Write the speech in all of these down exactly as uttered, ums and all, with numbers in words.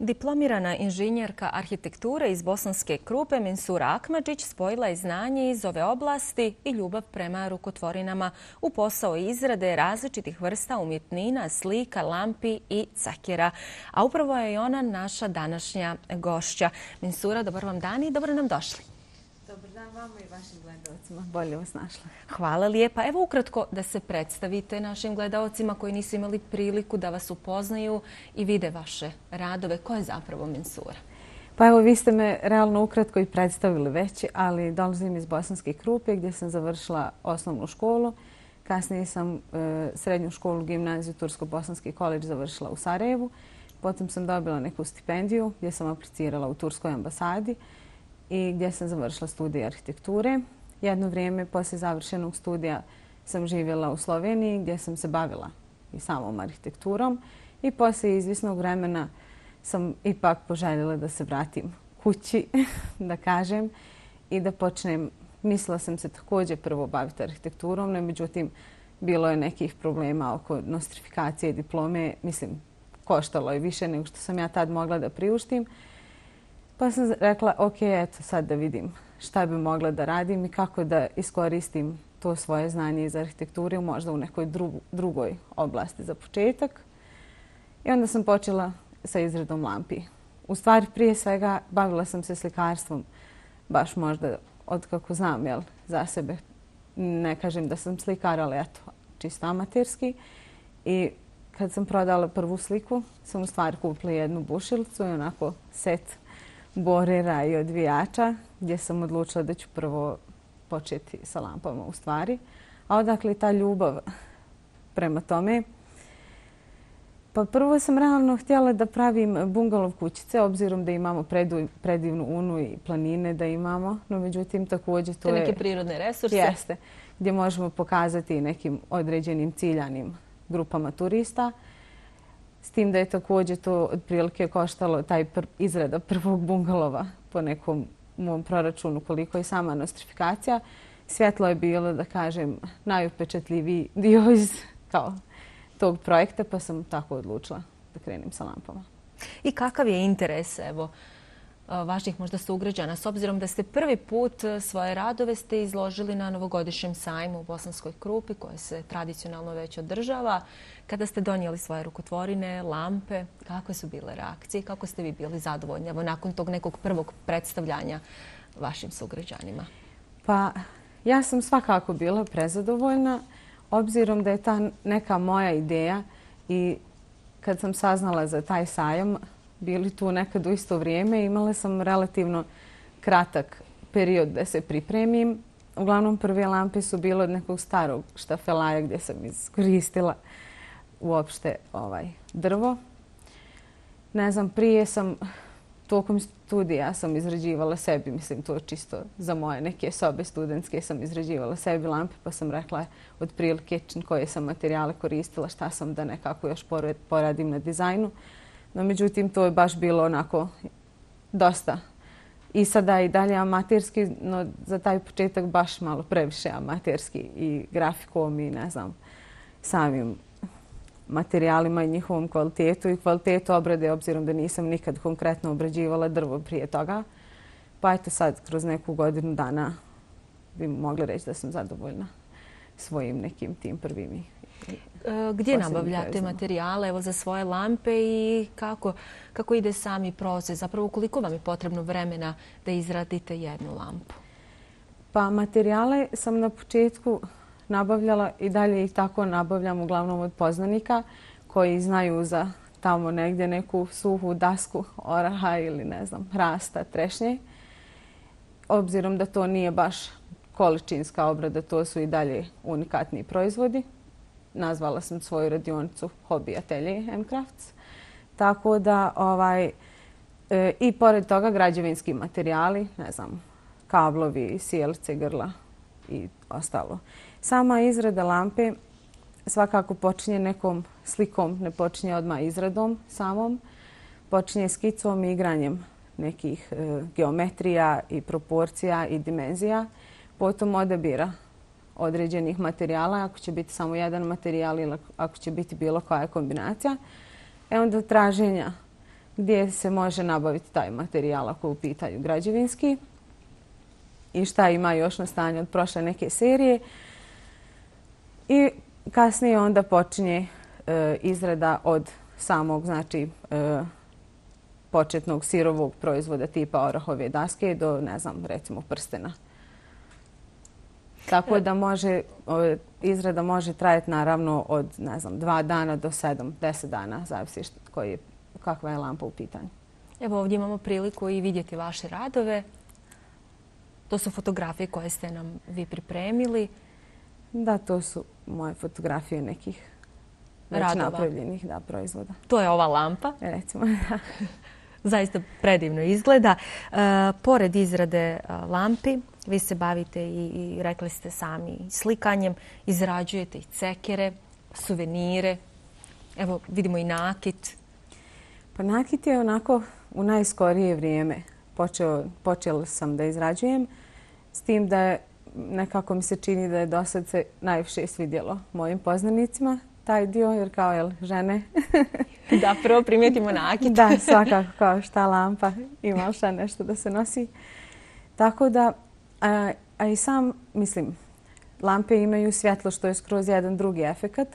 Diplomirana inženjerka arhitekture iz Bosanske Krupe Mensura Akmadžić spojila je znanje iz ove oblasti i ljubav prema rukotvorinama u posao izrade različitih vrsta umjetnina, slika, lampi i cakera. A upravo je i ona naša današnja gošća. Mensura, dobar vam dan i dobro nam došli. Dobar dan vama i vašim gledalcima. Bolje vas našla. Hvala lijepa. Evo ukratko da se predstavite našim gledalcima koji nisu imali priliku da vas upoznaju i vide vaše radove. Ko je zapravo Mensura? Pa evo, vi ste me realno ukratko i predstavili već, ali dolazim iz Bosanske Krupe gdje sam završila osnovnu školu. Kasnije sam e, srednju školu, gimnaziju, Tursko-Bosanski koledž završila u Sarajevu. Potom sam dobila neku stipendiju gdje sam aplicirala u Turskoj ambasadi i gdje sam završila studije arhitekture. Jedno vrijeme poslije završenog studija sam živjela u Sloveniji gdje sam se bavila i samom arhitekturom i poslije izvisnog vremena sam ipak poželjela da se vratim kući, da kažem, i da počnem. Mislila sam se također prvo baviti arhitekturom, no međutim bilo je nekih problema oko nostrifikacije diplome. Mislim, koštalo je više nego što sam ja tad mogla da priuštim. Pa sam rekla, ok, eto sad da vidim šta bi mogla da radim i kako da iskoristim to svoje znanje iz arhitekture možda u nekoj drugu, drugoj oblasti za početak. I onda sam počela sa izradom lampi. U stvari, prije svega, bavila sam se slikarstvom, baš možda od kako znam, jel, za sebe. Ne kažem da sam slikar, ali eto, čisto amaterski. I kad sam prodala prvu sliku, sam u stvari kupila jednu bušilicu i onako set borera i odvijača, gdje sam odlučila da ću prvo početi sa lampama u stvari. A odakle ta ljubav prema tome? Pa prvo sam realno htjela da pravim bungalov kućice, obzirom da imamo predu, predivnu unu i planine da imamo, no međutim također to je... Te neke prirodne resurse? Jeste, gdje možemo pokazati nekim određenim ciljanim grupama turista. S tim da je također to otprilike koštalo taj pr izrada prvog bungalova po nekom mom proračunu koliko je sama nostrifikacija. Svjetlo je bilo, da kažem, najupečatljiviji dio iz kao, tog projekta, pa sam tako odlučila da krenem sa lampama. I kakav je interes evo, vaših možda sugrađana, s obzirom da ste prvi put svoje radove ste izložili na novogodišnjem sajmu u Bosanskoj Krupi, koje se tradicionalno već održava. Kada ste donijeli svoje rukotvorine, lampe, kakve su bile reakcije i kako ste vi bili zadovoljni evo, nakon tog nekog prvog predstavljanja vašim sugrađanima? Pa ja sam svakako bila prezadovoljna, obzirom da je ta neka moja ideja i kad sam saznala za taj sajam, bili tu nekad u isto vrijeme. Imala sam relativno kratak period da se pripremim. Uglavnom prve lampe su bile od nekog starog štafelaja gdje sam iskoristila uopšte ovaj drvo. Ne znam, prije sam tokom studija sam izrađivala sebi, mislim to čisto za moje neke sobe studentske sam izrađivala sebi lampe, pa sam rekla otprilike koje sam materijale koristila, šta sam da nekako još poradim na dizajnu. No, međutim, to je baš bilo onako dosta. I sada i dalje amaterski, no za taj početak baš malo previše amaterski i grafikom i ne znam, samim materijalima i njihovom kvalitetu i kvalitetu obrade, obzirom da nisam nikad konkretno obrađivala drvo prije toga. Pa eto sad, kroz neku godinu dana bi mogla reći da sam zadovoljna svojim nekim tim prvim. Gdje nabavljate materijale evo, za svoje lampe i kako, kako ide sami proces? Zapravo, koliko vam je potrebno vremena da izradite jednu lampu? Pa materijale sam na početku nabavljala i dalje ih tako nabavljam uglavnom od poznanika koji znaju za tamo negdje neku suhu dasku oraha ili ne znam, hrasta, trešnje. Obzirom da to nije baš količinska obrada, to su i dalje unikatni proizvodi. Nazvala sam svoju radionicu Hobby Atelier M-Crafts. Tako da ovaj, e, i pored toga građevinski materijali, ne znam, kablovi, sijalice, grla i ostalo. Sama izrada lampe svakako počinje nekom slikom, ne počinje odmah izradom samom. Počinje skicom i igranjem nekih e, geometrija i proporcija i dimenzija. Potom odabira određenih materijala, ako će biti samo jedan materijal ili ako će biti bilo koja kombinacija. E onda traženja gdje se može nabaviti taj materijal ako je u pitanju građevinski i šta ima još na stanju od prošle neke serije. I kasnije onda počinje e, izrada od samog, znači, e, početnog sirovog proizvoda tipa orahove daske do, ne znam, recimo prstena. Tako da može, izrada može trajati naravno od, ne znam, dva dana do sedam, deset dana, zavisi koji je, kakva je lampa u pitanju. Evo ovdje imamo priliku i vidjeti vaše radove. To su fotografije koje ste nam vi pripremili. Da, to su moje fotografije nekih već radova. Napravljenih da, proizvoda. To je ova lampa. Recimo, da. Zaista predivno izgleda. E, pored izrade lampi, vi se bavite i, i rekli ste sami slikanjem, izrađujete i cekere, suvenire. Evo vidimo i nakit. Pa nakit je onako u najskorije vrijeme. Počeo, počela sam da izrađujem, s tim da je, nekako mi se čini da je do sad se najviše svidjelo mojim poznanicima taj dio, jer kao jel, žene... Da, prvo primijetimo nakit. Da, svakako kao šta lampa ima šta nešto da se nosi. Tako da, a, a i sam, mislim, lampe imaju svjetlo što je skroz jedan drugi efekat.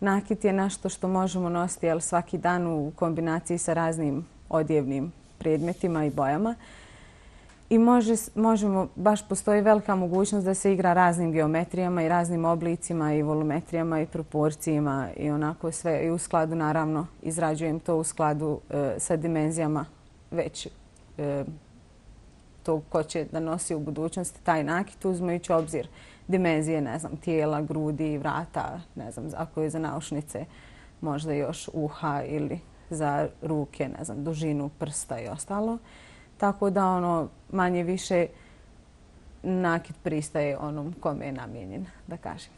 Nakit je nešto što možemo nositi jel, svaki dan u kombinaciji sa raznim odjevnim predmetima i bojama. I može, možemo, baš postoji velika mogućnost da se igra raznim geometrijama i raznim oblicima i volumetrijama i proporcijama i onako sve. I u skladu, naravno, izrađujem to u skladu e, sa dimenzijama već e, to ko će da nosi u budućnosti taj nakit, uzmajući obzir dimenzije, ne znam, tijela, grudi, vrata, ne znam, ako je za naušnice, možda još uha ili za ruke, ne znam, dužinu prsta i ostalo. Tako da ono manje više nakit pristaje onom kome je namijenjen, da kažem.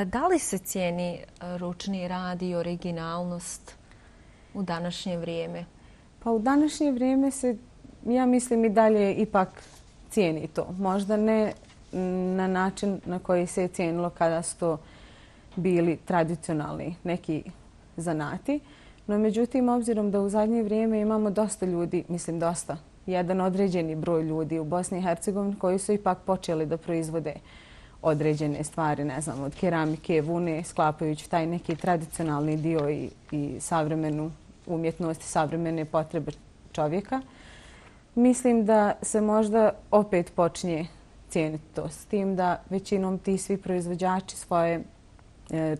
Da li se cijeni ručni rad i originalnost u današnje vrijeme? Pa u današnje vrijeme se, ja mislim, i dalje ipak cijeni to. Možda ne na način na koji se je cijenilo kada su to bili tradicionalni neki zanati. No, međutim, obzirom da u zadnje vrijeme imamo dosta ljudi, mislim dosta, jedan određeni broj ljudi u Bosni i Hercegovini koji su ipak počeli da proizvode određene stvari, ne znam, od keramike, vune, sklapajući taj neki tradicionalni dio i, i savremenu umjetnost, savremene potrebe čovjeka. Mislim da se možda opet počinje cijeniti to s tim da većinom ti svi proizvođači svoje e,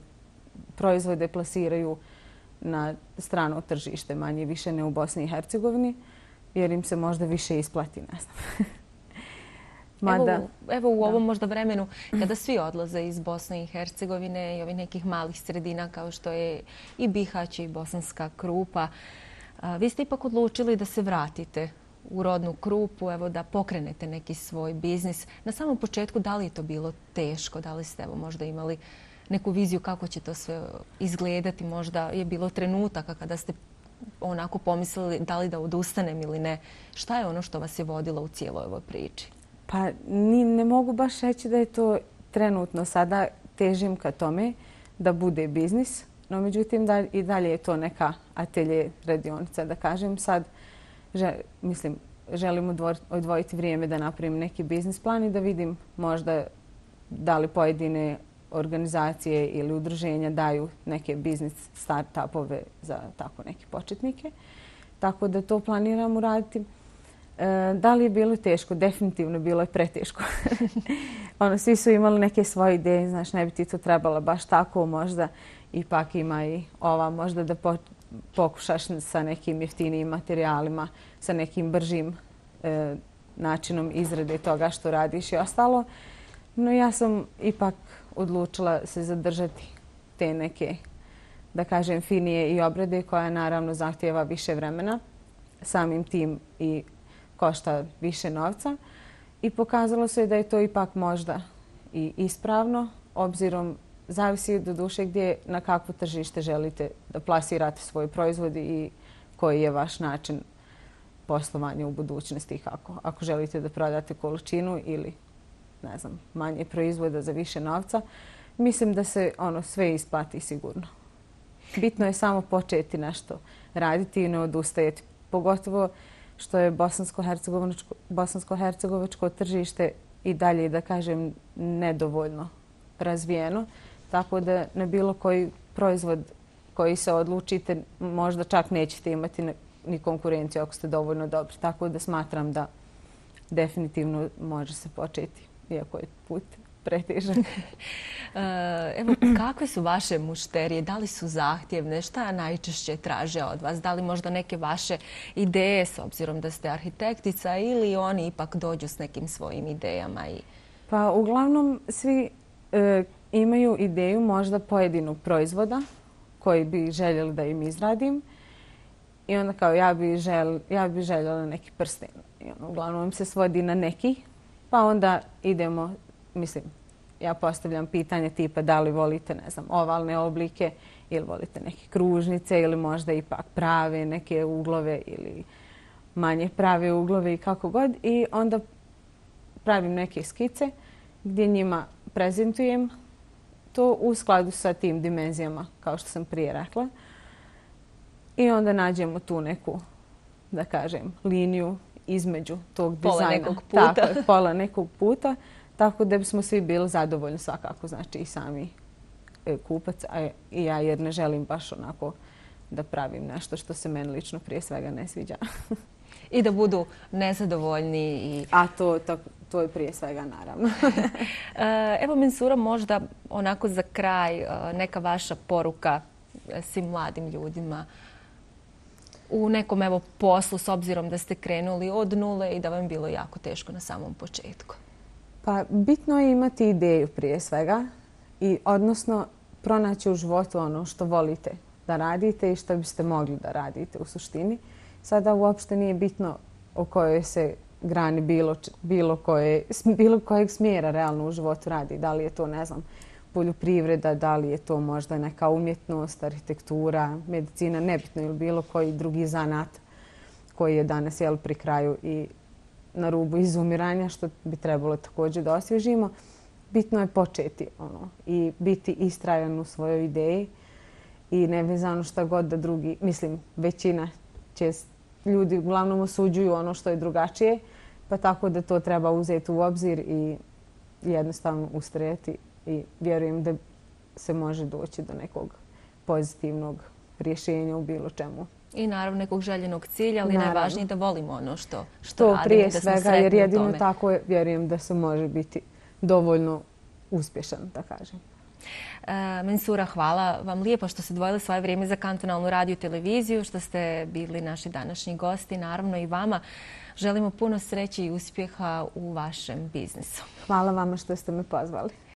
proizvode plasiraju na strano tržište, manje više ne u Bosni i Hercegovini, jer im se možda više isplati, ne znam. Mada... Evo, evo u ovom da. možda vremenu kada svi odlaze iz Bosne i Hercegovine i ovih nekih malih sredina kao što je i Bihać i Bosanska Krupa, a, vi ste ipak odlučili da se vratite u rodnu Krupu, evo da pokrenete neki svoj biznis. Na samom početku da li je to bilo teško? Da li ste evo možda imali neku viziju kako će to sve izgledati? Možda je bilo trenutaka kada ste onako pomislili da li da odustanem ili ne. Šta je ono što vas je vodilo u cijeloj ovoj priči? Pa ni, ne mogu baš reći da je to trenutno. Sada težim ka tome da bude biznis, no međutim da i dalje je to neka atelje radionica. Da kažem sad, že, mislim, želim odvojiti vrijeme da napravim neki biznis plan i da vidim možda da li pojedine organizacije ili udruženja daju neke biznis start-upove za tako neke početnike. Tako da to planiram uraditi. E, da li je bilo teško? Definitivno bilo je preteško. ono, svi su imali neke svoje ideje, znaš, ne bi ti to trebalo baš tako, možda ipak ima i ova, možda da po, pokušaš sa nekim jeftinijim materijalima, sa nekim bržim e, načinom izrade toga što radiš i ostalo. No ja sam ipak odlučila se zadržati te neke, da kažem, finije i obrade koja naravno zahtjeva više vremena, samim tim i košta više novca. I pokazalo se da je to ipak možda i ispravno, obzirom zavisi do duše gdje na kakvo tržište želite da plasirate svoj proizvod i koji je vaš način poslovanja u budućnosti i kako. Ako želite da prodate količinu ili ne znam, manje proizvoda za više novca, mislim da se ono sve isplati sigurno. Bitno je samo početi nešto raditi i ne odustajati. Pogotovo što je bosansko-hercegovačko, bosansko-hercegovačko tržište i dalje, da kažem, nedovoljno razvijeno. Tako da na bilo koji proizvod koji se odlučite, možda čak nećete imati ni konkurenciju ako ste dovoljno dobri. Tako da smatram da definitivno može se početi, iako je put pretežak. Evo, kakve su vaše mušterije? Da li su zahtjevne? Šta najčešće traže od vas? Da li možda neke vaše ideje, s obzirom da ste arhitektica, ili oni ipak dođu s nekim svojim idejama? I... Pa uglavnom svi e, imaju ideju možda pojedinog proizvoda koji bi željeli da im izradim. I onda kao ja bi, žel, ja bi željela neki prsten. I ono, uglavnom im se svodi na neki. Pa onda idemo, mislim, ja postavljam pitanje tipa da li volite, ne znam, ovalne oblike ili volite neke kružnice ili možda ipak prave neke uglove ili manje prave uglove i kako god. I onda pravim neke skice gdje njima prezentujem to u skladu sa tim dimenzijama, kao što sam prije rekla. I onda nađemo tu neku, da kažem, liniju između tog dizajna. Pola nekog puta. Tako, pola nekog puta. Tako da bismo svi bili zadovoljni svakako, znači i sami kupac, a i ja, jer ne želim baš onako da pravim nešto što se meni lično prije svega ne sviđa. I da budu nezadovoljni. I... A to, to, to je prije svega naravno. Evo, Mensura, možda onako za kraj neka vaša poruka svim mladim ljudima u nekom evo poslu, s obzirom da ste krenuli od nule i da vam je bilo jako teško na samom početku. Pa bitno je imati ideju prije svega i odnosno pronaći u životu ono što volite da radite i što biste mogli da radite u suštini. Sada uopšte nije bitno o kojoj se grani bilo, bilo, koje, bilo kojeg smjera realno u životu radi. Da li je to, ne znam, poljoprivreda, da li je to možda neka umjetnost, arhitektura, medicina, nebitno ili bilo koji drugi zanat koji je danas jel, pri kraju i na rubu izumiranja, što bi trebalo također da osvježimo. Bitno je početi ono, i biti istrajan u svojoj ideji i nevezano šta god da drugi, mislim, većina će ljudi uglavnom osuđuju ono što je drugačije, pa tako da to treba uzeti u obzir i jednostavno ustrajati i vjerujem da se može doći do nekog pozitivnog rješenja u bilo čemu. I naravno nekog željenog cilja, ali naravno. Najvažnije da volimo ono što, što to radimo. Prije da smo svega, jer jedino tako je, vjerujem da se može biti dovoljno uspješan, da kažem. E, Mensura, hvala vam lijepo što ste odvojili svoje vrijeme za kantonalnu radio televiziju, što ste bili naši današnji gosti. Naravno i vama želimo puno sreće i uspjeha u vašem biznisu. Hvala vama što ste me pozvali.